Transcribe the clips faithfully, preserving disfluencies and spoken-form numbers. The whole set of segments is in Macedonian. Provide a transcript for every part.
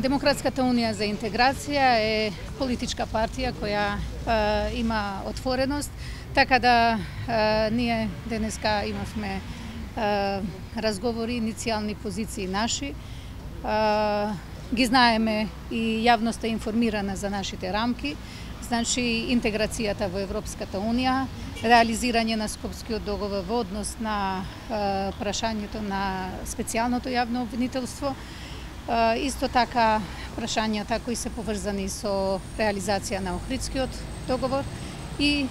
Демократската унија за интеграција е политичка партија која е, има отвореност, така да е, ние денеска имавме е, разговори, иницијални позиции наши. Е, ги знаеме и јавноста е информирана за нашите рамки, значи интеграцијата во Европската унија, реализирање на Скопскиот договор во однос на е, прашањето на специјалното јавно обвинителство. Исто така прашањата кои се поврзани со реализација на Охридскиот договор и е,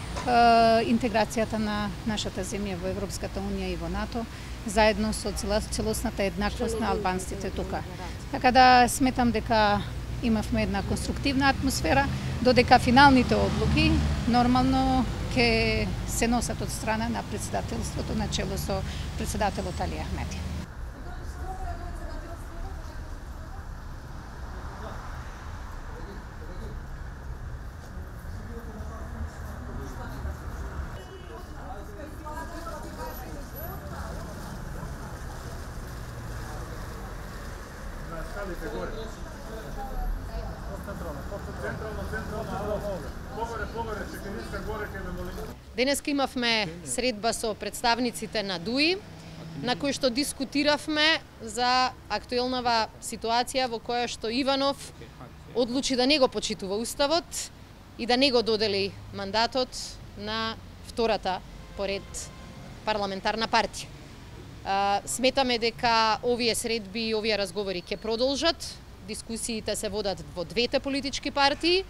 интеграцијата на нашата земја во Европската унија и во НАТО, заедно со целосната еднаквост на албанците тука. Така да сметам дека имавме една конструктивна атмосфера, додека финалните одлуки нормално ќе се носат од страна на председателството на чело со председателот Али Ахмеди. Денеска имавме средба со представниците на ДУИ, на кој што дискутиравме за актуелнава ситуација во која што Иванов одлучи да не го почитува Уставот и да не го додели мандатот на втората поред парламентарна партија. Сметаме дека овие средби и овие разговори ќе продолжат, дискусиите се водат во двете политички партии,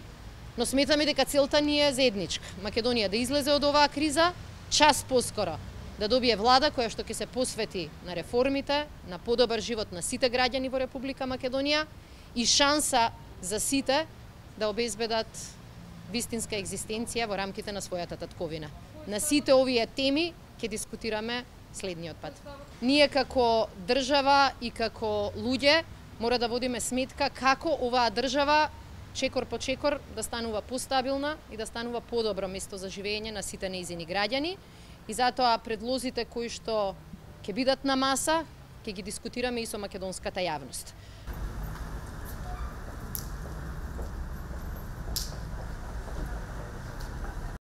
но сметаме дека целта ни е заедничка. Македонија да излезе од оваа криза, час поскоро да добие влада која што ќе се посвети на реформите, на подобар живот на сите граѓани во Република Македонија и шанса за сите да обезбедат вистинска екзистенција во рамките на својата татковина. На сите овие теми ќе дискутираме следниот пат. Ние како држава и како луѓе мора да водиме сметка како оваа држава чекор по чекор да станува постабилна и да станува подобро место за живење на сите нејзини граѓани. И затоа предлозите кои што ќе бидат на маса, ќе ги дискутираме и со македонската јавност.